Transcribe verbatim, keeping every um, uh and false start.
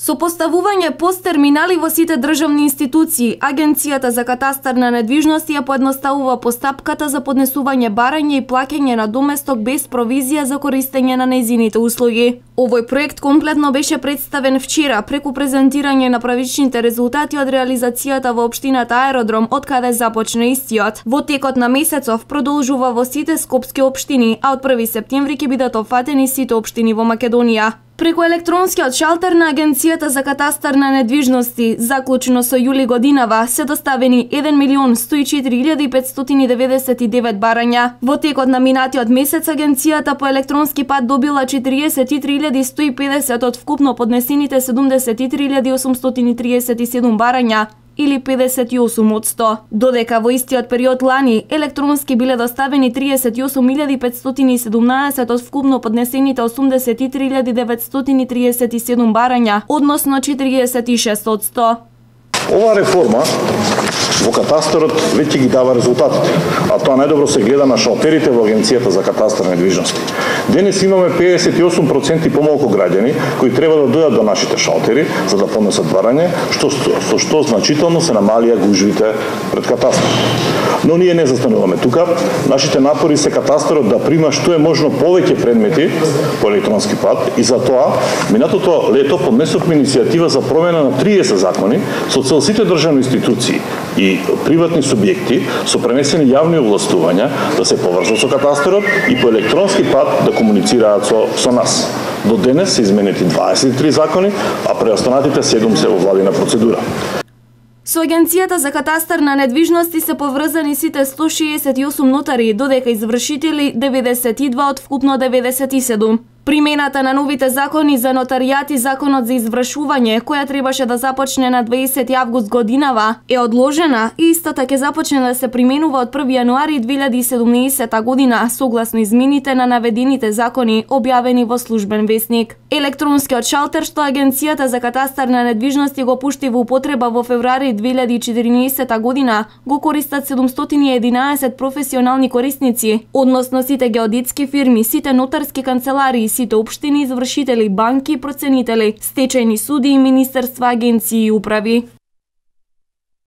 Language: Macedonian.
Со поставување пост-терминали во сите државни институции, Агенцијата за катастар на недвижности ја поедноставува постапката за поднесување барање и плаќање на доместок без провизија за користење на нејзините услуги. Овој проект комплетно беше представен вчера преку презентирање на правичните резултати од реализацијата во општината Аеродром, од каде започна истиот. Во текот на месецов продолжува во сите скопски општини, а од први септември ќе бидат опфатени сите општини во Македонија. Преку електронскиот шалтер на Агенцијата за катастар на недвижности, заклучено со јули годинава, се доставени еден милион сто и четири илјади петстотини деветдесет и девет барања. Во текот на минатиот месец Агенцијата по електронски пат добила четириесет и три илјади сто и педесет од вкупно поднесените седумдесет и три илјади осумстотини триесет и седум барања, или педесет и осум од сто. Додека во истиот период лани електронски биле доставени триесет и осум илјади петстотини и седумнаесет од вкупно поднесените осумдесет и три илјади деветстотини триесет и седум барања, односно четириесет и шест од сто. Ова реформа во катастарот веќе ги дава резултатите, а тоа најдобро се гледа на шалтерите во Агенцијата за катастар на недвижности. Денес имаме педесет и осум проценти помалку граѓани кои треба да дојдат до нашите шалтери за да поднесат барање, што со што значително се намалија гужвите пред катастар. Но ние не застануваме тука. Нашите напори се катастарот да прима што е можно повеќе предмети по електронски пат и за тоа минатото лето поднесовме иницијатива за промена на триесет закони со цел сите државни институции и приватни субјекти со пренесени јавни овластувања да се поврзат со катастарот и по електронски пат да комуницираат со, со нас. До денес се изменети дваесет и три закони, а преостанатите седум се во владина процедура. Со Агенцијата за катастар на недвижности се поврзани сите сто шеесет и осум нотари, додека извршители деветдесет и два од вкупно деветдесет и седум. Примената на новите закони за нотаријат и законот за извршување, која требаше да започне на дваесети август годинава, е одложена и истата ќе започне да се применува од први јануари две илјади и седумнаесета година, согласно измените на наведените закони објавени во Службен весник. Електронскиот шалтер што Агенцијата за катастар на недвижности го пушти во употреба во февруари две илјади и четиринаесета година, го користат седумстотини и единаесет професионални корисници, односно сите геодетски фирми, сите нотарски канцеларии, сите општини, извршители, банки, проценители, стечајни суди и министерства, агенции и управи.